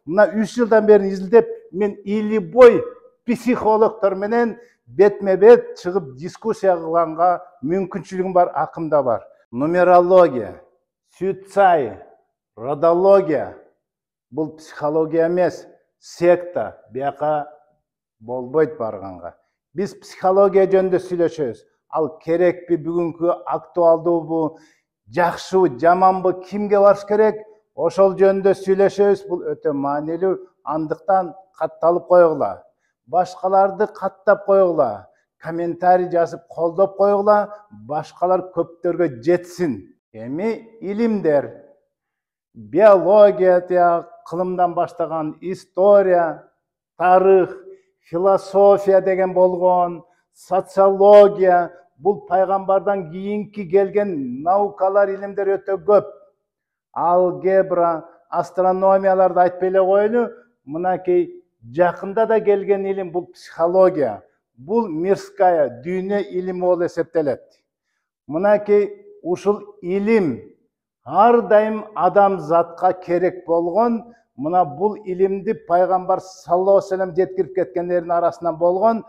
Мына 3 жылдан бeri изилдеп, мен илибой психологтор менен бетме-бет чыгып дискуссия кылганга мүмкүнчүлүгүм бар, акым да бар. Нумерология, суицай, родология бул психология эмес, секта. Бияка болбойт барганга. Биз психология жөнүндө сүйлөшөбүз. Ал керекпи, бүгүнкү актуалдуубу, жакшыбы, жаманбы, кимге барыш керек? Ошол жөнүндө сүйлөшөбүз. Бул өтө маанилүү. Андыктан катталып койгула. Башкаларды каттап койгула. Комментарий жазып колдоп койгула. Башкалар көптөргө жетсин. Эми илимдер, биология, кылымдан баштаган история, тарых, философия деген болгон, социология, бул пайгамбардан кийинки келген наукалар, илимдер өтө көп. Алгебра, астрономияларды айтпай эле коелу, мынакей жакында да келген илим бул психология. Бул мирская, дүйнө илими болуп эсептелет. Мынакей ушул илим ар дайым адамзатка керек болгон, мына бул илимди пайгамбар саллаллаху алейхи вассалам жеткирип кеткендердин арасынан болгон,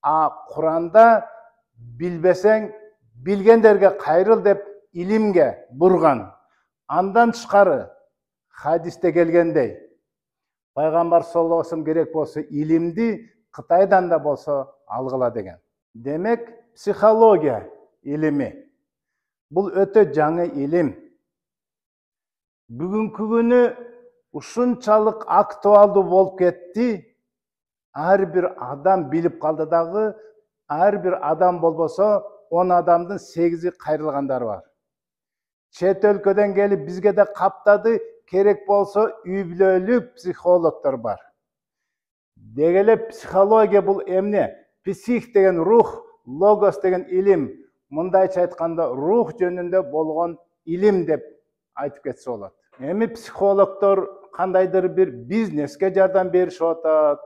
Куранда билбесең, билгендерге кайрыл деп илимге бурган. Андан тышкары хадисте келгендей, пайгамбар саллаллаху алейхи вассалам керек болсо илимди Кытайдан да болсо алгыла деген. Демек, психология илими бул өтө жаңы илим. Бүгүнкү күнү ушунчалык актуалдуу болуп кетти. Ар бир адам билип калды дагы, ар бир адам болбосо 10 адамдын 8-и кайрылгандары бар. Чет өлкөдөн келип бизге да каптады, керек болсо үй бүлөлүк психологдор бар. Деги эле психология бул эмне? Псих деген рух, логос деген илим. Мындайча айтканда, рух жөнүндө болгон илим деп айтып кетсе болот. Эми психологдор кандайдыр бир бизнеске жардам беришип атат,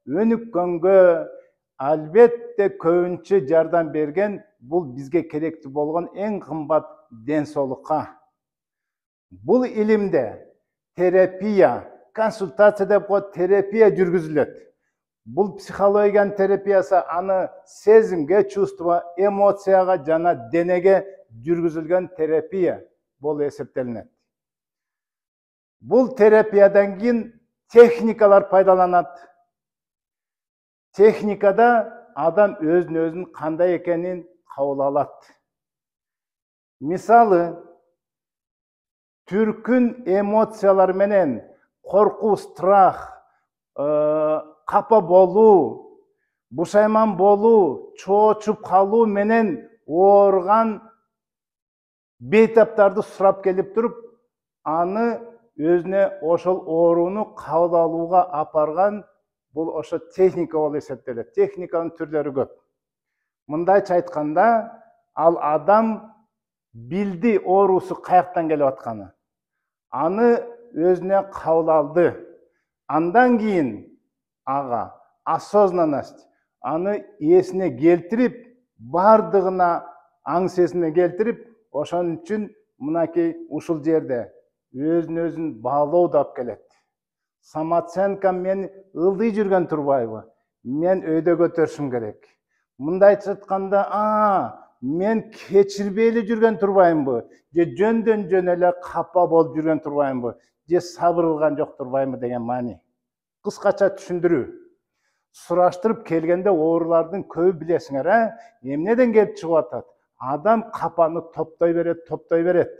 өнүккөнгө, албетте көбүнчө жардам берген бул бизге керектүү болгон эң кымбат ден соолукка. Бул илимде терапия, консультация деп коет, терапия жүргүзүлөт. Бул психологиянын терапиясы аны сезимге, чувство, эмоцияга жана денеге жүргүзүлгөн терапия болуп эсептелинет. Бул терапиядан кийин техникалар пайдаланат. Техникада адам өзүн кандай экенин кабыл алат. Мисалы, түркүн эмоциялар менен коркуу, страх, капа болуу, бушайман болуу, чоочуп калуу менен ооруган бейтаптарды сурап келип туруп, аны өзүнө ошол ооруну кабыл алууга апарган бул ошо техника болуп эсептелет. Техниканын түрлөрү көп. Мындайча айтканда, ал адам билди оорусу каяктан келип атканы. Аны өзүнө кабыл алды. Андан кийин ага осознанность, аны эсине келтирип, бардыгына аң сезине келтирип, ошон үчүн мынакей ушул жерде өзүн баалоо да алып келет. Самооценка мен ылдый жүргөн турбайбы? Мен өйдө көтөрүшүм керек. Мындайча айтканда, мен кечирбейли жүргөн турбаймынбы? Же жөндөн жөн эле капа болуп жүргөн турбаймынбы? Же сабыр кылган жок турбаймынбы деген маани. Кыскача түшүндүрүү. Сураштырып келгенде оорулардын көбү билесиңер, эмнеден келип чыгып атат? Адам капаны топтой берет.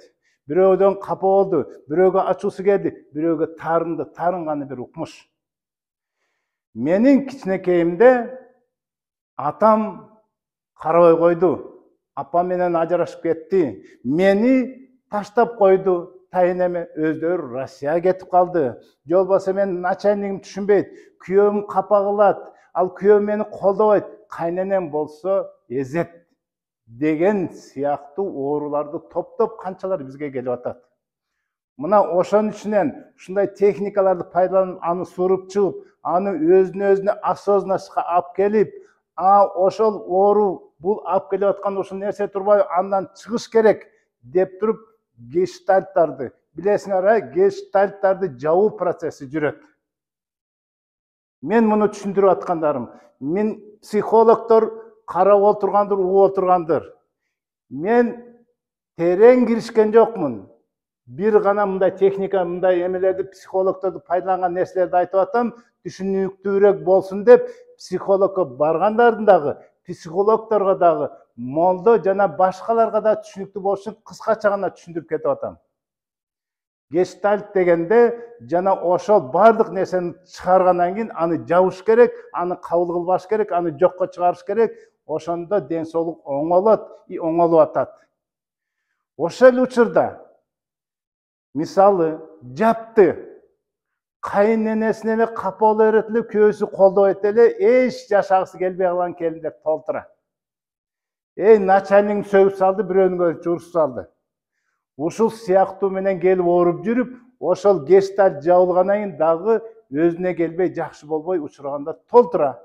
Бирөөдөн капа болду, бирөөгө ачуусу келди, бирөөгө тарынды, тарынганы бир укмуш. Менин кичинекейимде атам карабай койду. Апам менен ажырашып кетти. Мени таштап койду. Тайынеме өздөрү Россияга кетип калды. Же болбосо мен начальнигим түшүнбөйт. Күйөөм капа кылат. Ал күйөөм мени колдобойт. Кайненем болсо эзет. Деген сыяктуу ооруларды топтоп канчалар бизге келип атат. Мына ошон үчүнөн ушундай техникаларды пайдаланып, аны суруп чыгып, аны өзүнө осознанностька алып келип, ошол оору бул алып келип аткан ушул нерсе турбайбы, андан чыгыш керек деп туруп гештальттарды, билесиңер, гештальттарды жабуу процесси жүрөт. Мен муну түшүндүрүп аткандарым. Мен психологдор карап отургандыр, угуп отургандыр. Мен терең киришкен жокмун. Бир гана мындай техника, мындай эмелерди, психологдорду пайдаланган нерселерди айтып атам, түшүнүктүүрөөк болсун деп, психологко баргандардын дагы, психологдорго дагы, молдо жана башкаларга да түшүнүктүү болушу кыскача гана түшүндүрүп кетип атам. Гештальт дегенде жана ошол бардык нерсени чыгаргандан кийин аны жабыш керек, аны кабыл кылбаш керек, аны жокко чыгарыш керек. Ошондо ден соолук оңолот, оңолуп атат. Ошол учурда мисалы жапты кайыненесине эле капа боло берет эле, күйөөсү колдобойт эле, эч жашагысы келбей калган келиндер толтура. Начальник сөгүп салды, бирөөнүн журсуп салды. Ушул сыяктуу менен келип ооруп жүрүп, ошол гештальт жабылгандан кийин дагы өзүнө келбей, жакшы болбой учургандар толтура.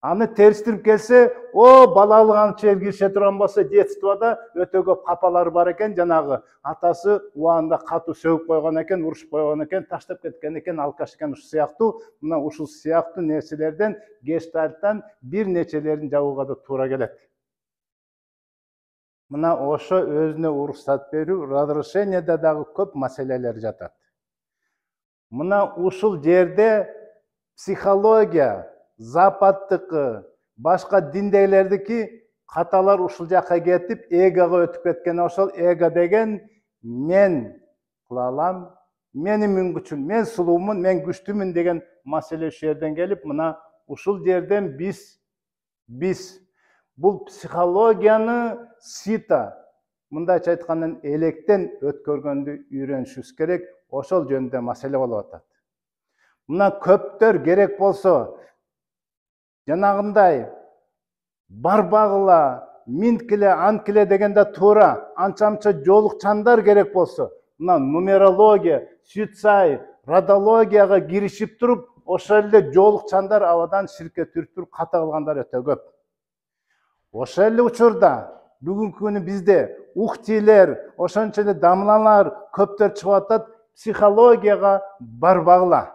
Аны терстирип келсе, балалык анча киреше турган болсо, детствода өтө көп капалары бар экен, жанагы атасы убагында катуу сөгүп койгон экен, урушуп койгон экен, таштап кеткен экен, алкаш экен, ушул сыяктуу, мына ушул сыяктуу нерселерден, гештальттан бир нечелерин жабууга да туура келет. Мына ошо өзүнө уруксат берүү, разрешениеде дагы көп маселелер жатат. Мына ушул жерде психология, западтыкы, башка диндегилердики каталар ушул жакка кетип, эгого өтүп кеткен. Ошол эго деген мен кыла алам, менин мүмкүнчүлүгүм, мен сулуумун, мен күчтүүмүн деген маселе ушул жерден келип, мына ушул жерден биз бул психологияны сита, мындайча айтканда электен өткөргөндү үйрөнүшүбүз керек. Ошол жөнүндө маселе болуп атат. Мына көптөр керек болсо, жанагындай барбагыла, минткиле, анткиле дегенде туура, анча-мынча жолукчандар керек болсо, мына нумерология, суицай, радологияга киришип туруп, ошол эле жолукчандар абадан ширкке түрүп ката кылгандар өтө көп. Ошол эле учурда бүгүнкү күнү бизде ухтилер, ошончо эле дамлалар көптөр чыгып атат, психологияга барбагыла.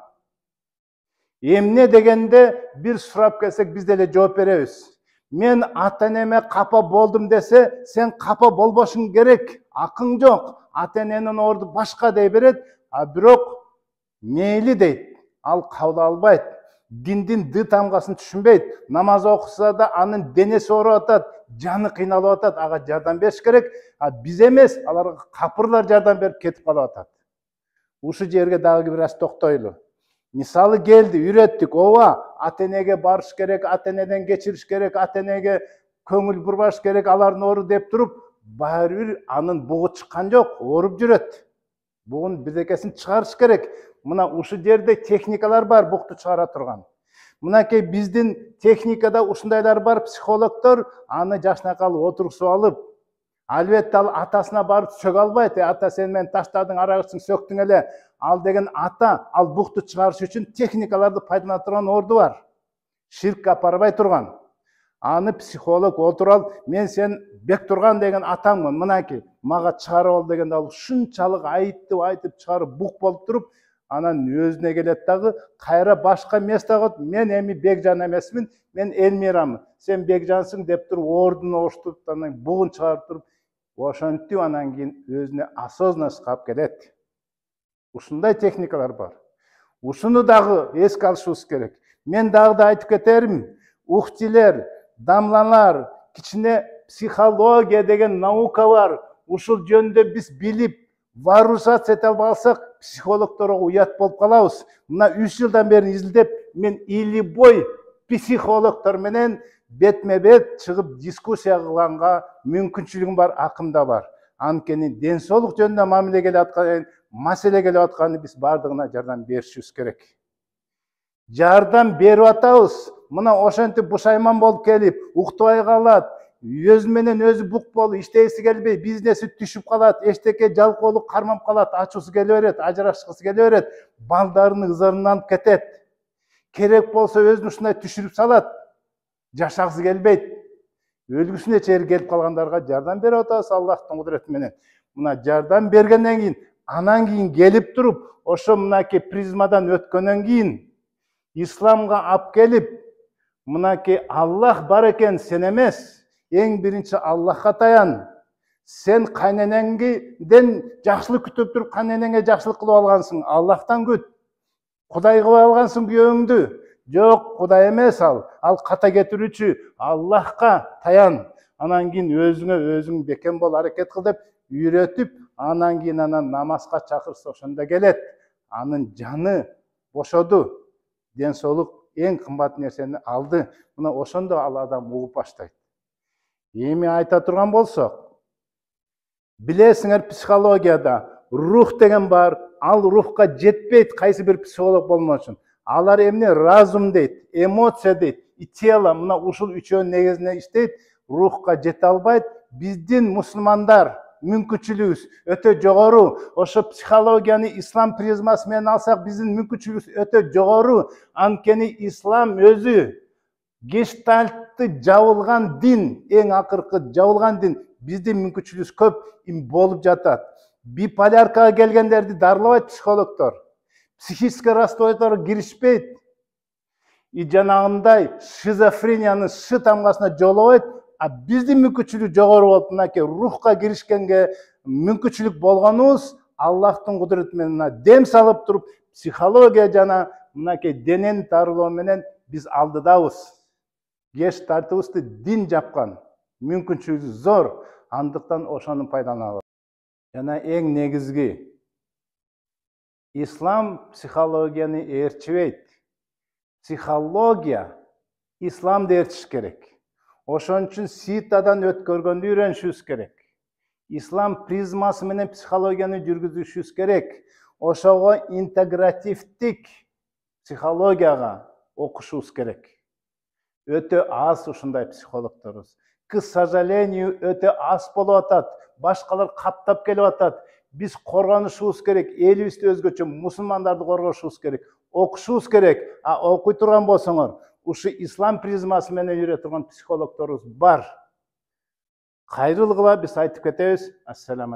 Эмне дегенде бир сурап келсек биз деле жооп беребиз. Мен ата-энеме капа болдум десе, сен капа болбошуң керек, акың жок. Ата-эненин орду башка дей берет, а бирок мейли дейт, ал кабыл албайт. Диндин ды тамгасын түшүнбөйт. Намаз окуса да анын денеси ооруп атат, жаны кыйналып атат, ага жардам бериш керек. А биз эмес, аларга капырлар жардам берип кетип калып атат. Ушул жерге дагы бир аз токтойлу. Мисалы келди, үйрөттүк, ата-энеге барыш керек, ата-энеден кечириш керек, ата-энеге көңүл бурбаш керек, алардын ору деп туруп, баары бир анын бугу чыккан жок, ооруп жүрөт. Бугун бирдекесин чыгарыш керек. Мына ушул жерде техникалар бар, букту чыгара турган. Мынакей биздин техникада ушундайлар бар, психологдор аны жашнакай отургузуп алып, албетте ал атасына барып сөгө албайт. Ата, сен мени таштадың, арагычың, сөктүң эле. Ал деген ата, ал букту чыгарыш үчүн техникаларды пайдалана турган орду бар. Ширкке апарбай турган. Аны психолог отуруп, мен сен Бектурган деген атаңмын, мынакей, мага чыгарып ал дегенде ал ушунчалык айтып чыгарып бук болуп туруп, анан өзүнө келет дагы, кайра башка местага, мен эми Бекжан эмесмин, мен Элмирамын. Сен Бекжансың деп туруп, ордун оштуп, анан бугун чыгарып туруп, ошентип анан кийин өзүнө осознанность калып келет. Ушундай техникалар бар. Ушуну дагы эске алышыбыз керек. Мен дагы да айтып кетерим, ухтилер, дамлалар, кичине психология деген наука бар. Ушул жөнүндө биз билип, вооружаться ете албасак, психологдорго уят болуп калабыз. Мына 3 жылдан бери изилдеп, мен илибой психологдор менен бетме-бет чыгып дискуссия кылганга мүмкүнчүлүгүм бар, акым да бар. Анткени ден соолук жөнүндө мамиле келип аткан, маселе келип атканы биз бардыгына жардам беришибиз керек. Жардам берип атабыз. Мына ошентип бушайман болуп келип, уктабай калат, өзү менен өзү бук болуп, иштегиси келбей, бизнеси түшүп калат, эчтеке жалкоолук кармап калат, ачуусу келе берет, ажырашкысы келе берет, балдарынын ызарынан кетет. Керек болсо өзүн ушундай түшүрүп салат, жашагысы келбейт. Өлгүсүнө чейин келип калгандарга жардам берип атабыз Аллахтын кудурети менен. Мына жардам бергенден кийин анан кийин келип туруп ошо мынакей призмадан өткөндөн кийин исламга алып келип мынакей Аллах бар экен, сен эмес, эң биринчи Аллахка таян. Сен кайненеңден жакшылык күтүп туруп кайненеңе жакшылык кылып алгансың, Аллахтан күт. Кудай кылып алгансың күйөөңдү. Жок, Кудай эмес ал ката кетирүүчү, Аллахка таян. Анан кийин өзүң бекем бол, аракет кыл деп үйрөтүп, анан кийин намазга чакырса ошондо келет. Анын жаны бошоду, ден соолук эң кымбат нерсени алды. Мына ошондо ал адам угуп баштайт. Эми айта турган болсок, билесиңер, психологияда рух деген бар, ал рухка жетпейт кайсы бир психолог болмош үчүн. Алар эмне? Разум дейт, эмоция дейт, и тело, мына ушул үчөөнүн негизинде иштейт, рухка жете албайт. Биздин мусулмандар мүмкүнчүлүгүбүз өтө жогору. Ошо психологияны ислам призмасы менен алсак, биздин мүмкүнчүлүгүбүз өтө жогору. Анткени ислам өзү гештальтты жабылган дин, эң акыркы жабылган дин. Биздин мүмкүнчүлүгүбүз көп болуп жатат. Биполяркага келгендерди дарылабайт психологдор. Психический расстройствого киришпейт. И жанагындай шизофренияны шы тамгасына жолобойт. А биздин мүмкүнчүлүк жогору болуп, мынакей рухка киришкенге мүмкүнчүлүк болгонубуз Аллахтын кудурети менен дем салып туруп, психология жана мынакей денени дарылоо менен биз алдыдабыз. Гештальтыбызды дин жапкан, мүмкүнчүлүгү зор, андыктан ошону пайдаланабыз. Жана эң негизги, ислам психологияны ээрчибейт. Психология исламды ээрчиш керек. Ошон үчүн ситадан өткөргөндү үйрөнүшүбүз керек. Ислам призмасы менен психологияны жүргүзүшүбүз керек. Ошого интегративдик психологияга окушубуз керек. Өтө аз ушундай психологдорубуз. К сожалению, өтө аз болуп атат. Башкалар каптап келип атат. Биз коргонушубуз керек. Элибизди өзгөчө мусулмандарды коргошубуз керек. Окушубуз керек. А окуй турган болсоңор, ушу ислам призмасы менен үйрөтө турган психологдорубуз бар. Кайрылгыла биз айтып кетебиз. Ассаламу